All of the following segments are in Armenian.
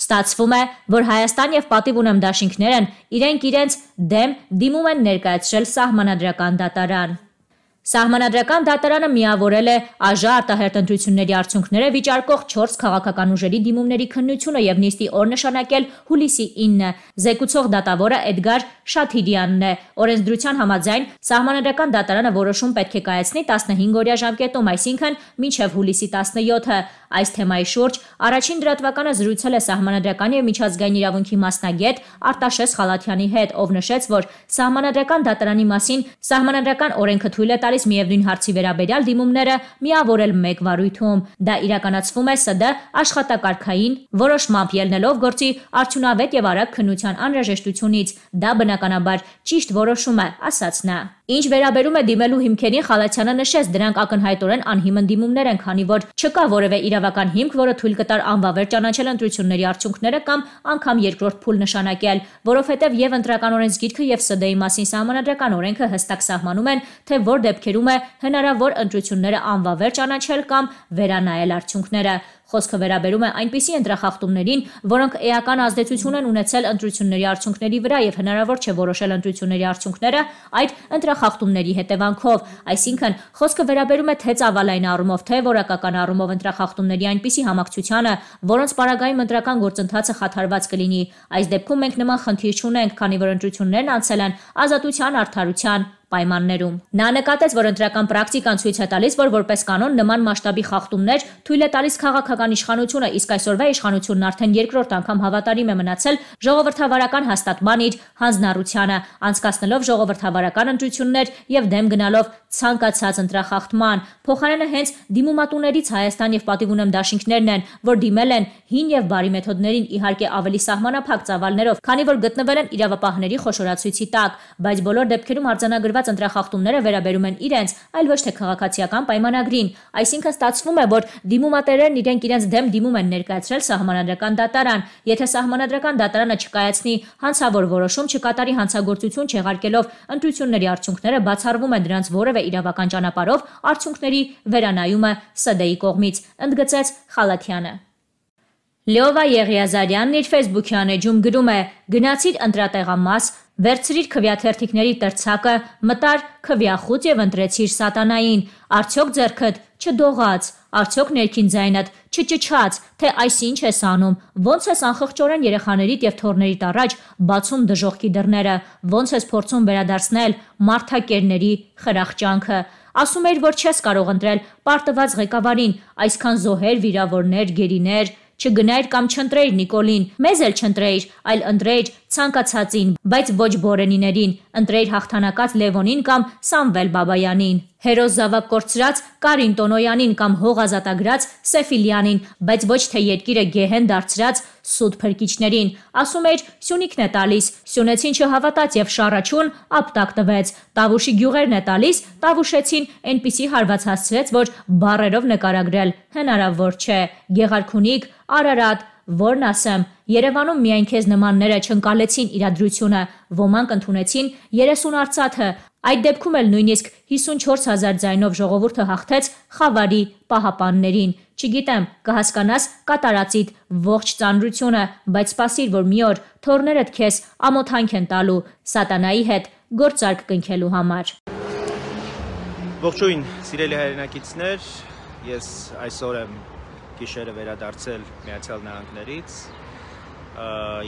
Ստացվում է, որ Հայաստան եւ Պատիվ ունեմ դաշինքներն իրենց դեմ դիմում են ներկայացրել Սահմանադրական դատարան։ Սահմանադրական դատարանը միավորել է ԱԺ արտահերթ ընտրությունների արդյունքները վիճարկող 4 քաղաքական ուժերի դիմումների քննությունը եւ նիստի օր նշանակել հուլիսի 9-ը։ Զեկուցող դատավորը Էդգար Շաթիրյանն է։ Օրենսդրության համաձայն Սահմանադրական դատարանը որոշում պետք է կայացնի 15-օրյա ժամկետում, այսինքն մինչև հուլիսի 17-ը։ Այս թեմայի շուրջ առաջին դրատվականը զրուցել է Սահմանադրական եւ միջազգային իրավունքի մասնագետ Արտաշես Խալաթյանի հետ, ով նշեց, որ Սահմանադրական դատարանի մասին Սահմանադրական օրենքը թույլ է տալիս միևնույն հարցի վերաբերյալ դիմումները միավորել մեկ վարույթում։ Դա իրականացվում է ՍԴ աշխատակարգային որոշմամբ ելնելով գործի արդյունավետ եւ արագ քննության անհրաժեշտությունից։ Դա բնականաբար ճիշտ որոշում է, ասաց նա։ Ինչ վերաբերում է դիմելու հիմքերին, Խալաթյանը նշեց, դրանք ակնհայտորեն անհիմն դիմումներ են, քանի որ չկա որևէ իրավական հիմք, որը թույլ կտար անվավեր ճանաչել ընտրությունների արդյունքները կամ անգամ երկրորդ փուլ նշանակել, որովհետև եւ ընտրական օրենսգիրքը եւ ՍԴ-ի մասին Սահմանադրական օրենքը հստակ սահմանում են, թե որ դեպքերում է հնարավոր ընտրությունները անվավեր ճանաչել կամ վերանայել արդյունքները։ Խոսքը վերաբերում է այնպիսի ընտրախախտումներին, որոնք էական ազդեցություն են ունեցել ընտրությունների արդյունքների վրա եւ հնարավոր չէ որոշել ընտրությունների արդյունքները այդ ընտրախախտումների հետևանքով։ Այսինքն, խոսքը վերաբերում է թե ծավալային առումով, թե որակական առումով ընտրախախտումների այնպիսի համակցությանը, որոնց պարագայում ընտրական գործընթացը խաթարված կլինի։ Այս դեպքում մենք նման խնդիր չունենք, քանի որ ընտրություններն անցել են ազատության, արդարության պայմաններում։ Նա նկատեց, որ ընտրական պրակտիկան ցույց է տալիս, որ որպես կանոն նման մասշտաբի խախտումներ թույլ է տալիս քաղաքական իշխանությունը, իսկ այսօրվա իշխանությունն արդեն երկրորդ անգամ հավատարիմ է մնացել ժողովրդավարական հաստատման իր հանձնառությանը, անցկացնելով ժողովրդավարական ընտրություններ եւ դեմ գնալով ցանկացած ընտրախախտման։ Փոխարենը հենց դիմումատուներից Հայաստան եւ Պատիվ ունեմ դաշինքներն են, որ դիմել են հին եւ բարի մեթոդներին, իհարկե ավելի սահմանափակ ծավալներով, քանի որ գտնվել են իրավապահների խոշորացույցի տակ, բայց բոլոր դեպքերում արձանագրված ընտրախախտումները վերաբերում են իրենց, այլ ոչ թե քաղաքացիական պայմանագրին։ Այսինքն ստացվում է, որ դիմումատերերն իրենց դեմ դիմում են ներկայացրել Սահմանադրական դատարան։ Եթե Սահմանադրական դատարանը չկայացնի հանցավոր որոշում, չկատարի հանցագործություն չեղարկելով ընտրությունների արդյունքները, բացառվում է դրանց որևէ իրավական ճանապարհով արդյունքների վերանայումը ՍԴ-ի կողմից, ընդգծեց Խալաթյանը։ Լեովա Եղիազարյանն իր Facebook-յան էջում գրում է. «Գնացիր ընտրատեղամաս, վերցրիր քվյաթերթիկների տրցակը, մտար քվյախուց եւ ընտրեցիր սատանային։ Արդյոք ձեռքդ չդողաց, արդյոք ներքին ձայնդ չճչաց, թե այսինչ ես անում, ոնց ես անխղճորեն երեխաներիդ եւ թոռներիդ առաջ բացում դժոխքի դռները, ոնց ես փորձում վերադարձնել մարդակերների խրախճանքը։ Ասում էիր, որ չես կարող ընտրել պարտված ղեկավարին, այսքան զոհեր, վիրավորներ, գերիներ, չգնայր կամ չընտրեիր Նիկոլին, մեզ էլ չընտրեիր, այլ ընտրեիր ցանկացածին, բայց ոչ Բորենիներին, ընտրեիր հաղթանակած Լևոնին կամ Սամվել Բաբայանին, հերոս զավակ կորցրած Կարին Տոնոյանին կամ հող ազատագրած Սեֆիլյանին, բայց ոչ թե երկիրը գեհեն դարձրած սուտ փրկիչներին։ Ասում էիր Սյունիքն է տալիս, Սյունեցին չհավատաց եւ շառաչուն ապտակ տվեց, Տավուշի գյուղերն է տալիս, Տավուշեցին այնպիսի հարված հասցրեց, որ բառերով նկարագրել հնարավոր չէ։ Գեղարքունիք, Արարատ, որն ասեմ, Երևանում միայն քեզ նմանները չընկալեցին իրադրությունը, ոմանք ընդունեցին 30 արծաթը, այդ դեպքում էլ նույնիսկ 54,000 ձայնով ժողովուրդը հաղթեց Խավարի պահապաններին։ Չգիտեմ, կհասկանաս կատարածիդ ողջ ծանրությունը, բայց սպասիր, որ մի օր թոռներդ քեզ ամոթանք են տալու սատանայի հետ գործարք կնքելու համար։ Ողջույն, սիրելի հայրենակիցներ, ես այսօր եմ գիշերը վերադարձել Միացյալ Նահանգներից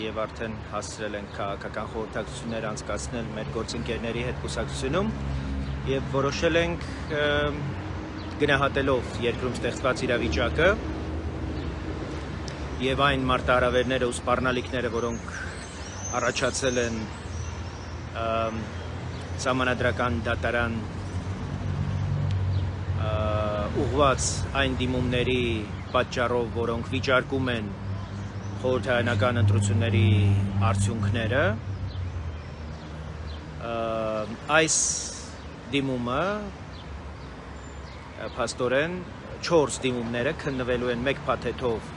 եւ արդեն հասցրել ենք քաղաքական խորհրդակցություններ անցկացնել մեր գործընկերների հետ կուսակցությունում եւ որոշել ենք գնահատելով երկրում ստեղծված իրավիճակը եւ այն մարտահրավերները ու սպառնալիքները, որոնք առաջացել են Սահմանադրական դատարան ուղղված այն դիմումների պատճառով, որոնք վիճարկում են խորհրդարանական ընտրությունների արդյունքները, այս դիմումը փաստորեն 4 դիմումները քննվելու են մեկ փաթեթով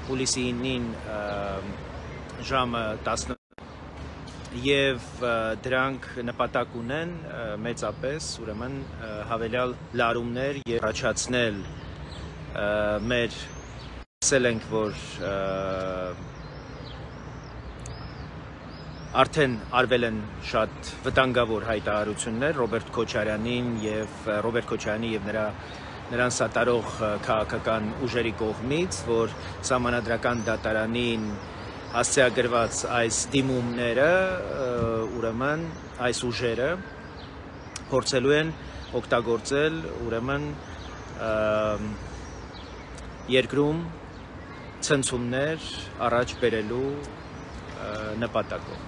հուլիսի 9-ին ժամը 10 եւ դրանք նպատակ ունեն մեծապես ուրեմն հավելյալ լարումներ եւ առաջացնել մեր ասել ենք, որ Արդեն արվել են շատ վտանգավոր հայտարարություններ Ռոբերտ Քոչարյանին եւ նրան սատարող քաղաքական ուժերի կողմից, որ Սահմանադրական դատարանին հասցեագրված այս դիմումները, ուրեմն այս ուժերը փորձելու են օգտագործել ուրեմն երկրում ցնցումներ առաջ բերելու նպատակով։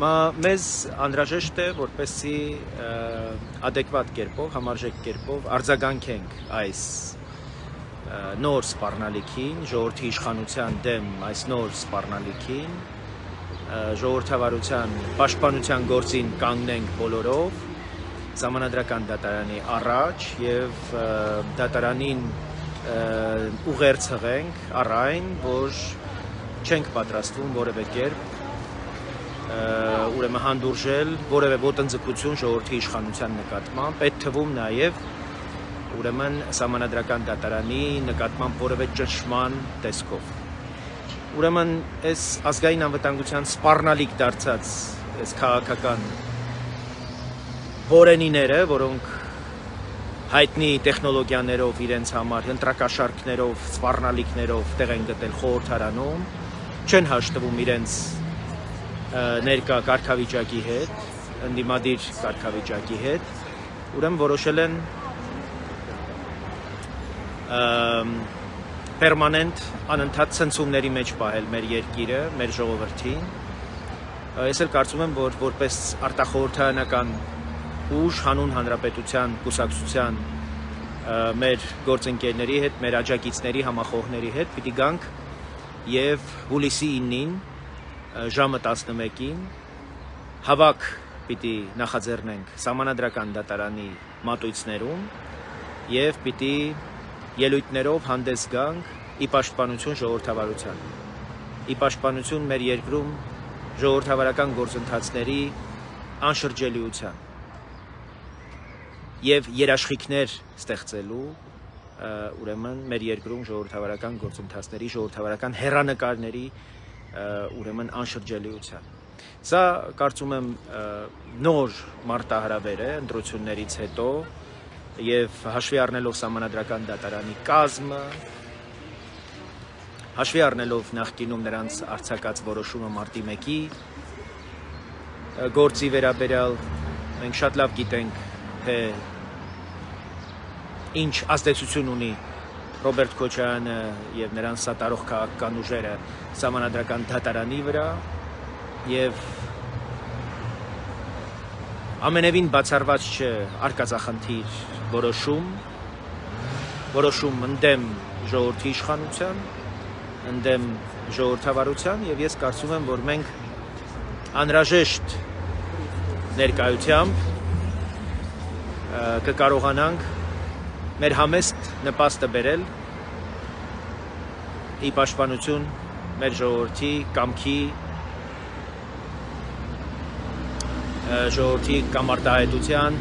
Մեզ անհրաժեշտ է, որպեսզի adekvat կերպով, համարժեք կերպով արձագանքենք այս նոր սպառնալիքին, ժողովրդի իշխանության դեմ այս նոր սպառնալիքին, ժողովրդավարության պաշտպանության գործին կանգնենք բոլորով, Սահմանադրական դատարանի առաջ եւ դատարանին ուղերձ հղենք առ այն, որ չենք պատրաստվում որևէ կերպ ուրեմն հանդուրժել որևէ ոտնձգություն ժողովրդի իշխանության նկատմամբ, այդ թվում նաև ուրեմն Սահմանադրական դատարանի նկատմամբ որևէ ճնշման տեսքով։ Ուրեմն այս ազգային անվտանգության սպառնալիք դարձած այս քաղաքական որենիները, որոնք հայտնի տեխնոլոգիաներով իրենց համար ընտրակաշարքներով, սպառնալիքներով տեղ են գտել խորհրդարանում, չեն հաշտվում իրենց ներկա կարգավիճակի հետ, ընդդիմադիր կարգավիճակի հետ, ուրեմն որոշել են պերմանենտ անընդհատ ցնցումների մեջ պահել մեր երկիրը, մեր ժողովրդին։ Ես էլ կարծում եմ, որ որպես արտախորհրդարանական ուժ հանուն հանրապետության կուսակցության մեր գործընկերների հետ, մեր աջակիցների համախոհների հետ պիտի գանք եւ հուլիսի 9-ին ժամը 11-ին հավաք պիտի նախաձեռնենք Սահմանադրական դատարանի մատույցներում եւ պիտի ելույթներով հանդես գանք ի պաշտպանություն ժողովրդավարության, ի պաշտպանություն մեր երկրում ժողովրդավարական գործընթացների անշրջելիության եւ երաշխիքներ ստեղծելու ուրեմն մեր երկրում ժողովրդավարական գործընթացների, ժողովրդավարական հեռանկարների ուրեմն անշրջելիության։ Սա կարծում եմ նոր մարտահրավեր է ընտրություններից հետո եւ հաշվի առնելով Սահմանադրական դատարանի կազմը, հաշվի առնելով նախկինում նրանց արձակած որոշումը մարտի 1-ի գործի վերաբերյալ, մենք շատ լավ գիտենք, թե ինչ ազդեցություն ունի Ռոբերտ Քոչարյանը եւ նրան սատարող քաղաքական ուժերը Սահմանադրական դատարանի վրա եւ ամենևին բացառված չէ արկածախնդիր որոշում ընդդեմ ժողովրդի իշխանության, ընդդեմ ժողովրդավարության եւ ես կարծում եմ, որ մենք անհրաժեշտ ներկայությամբ կկարողանանք մեր համեստ նպաստը բերել ի պաշտպանություն մեր ժողովրդի կամքի, ժողովրդի կամարտահայտության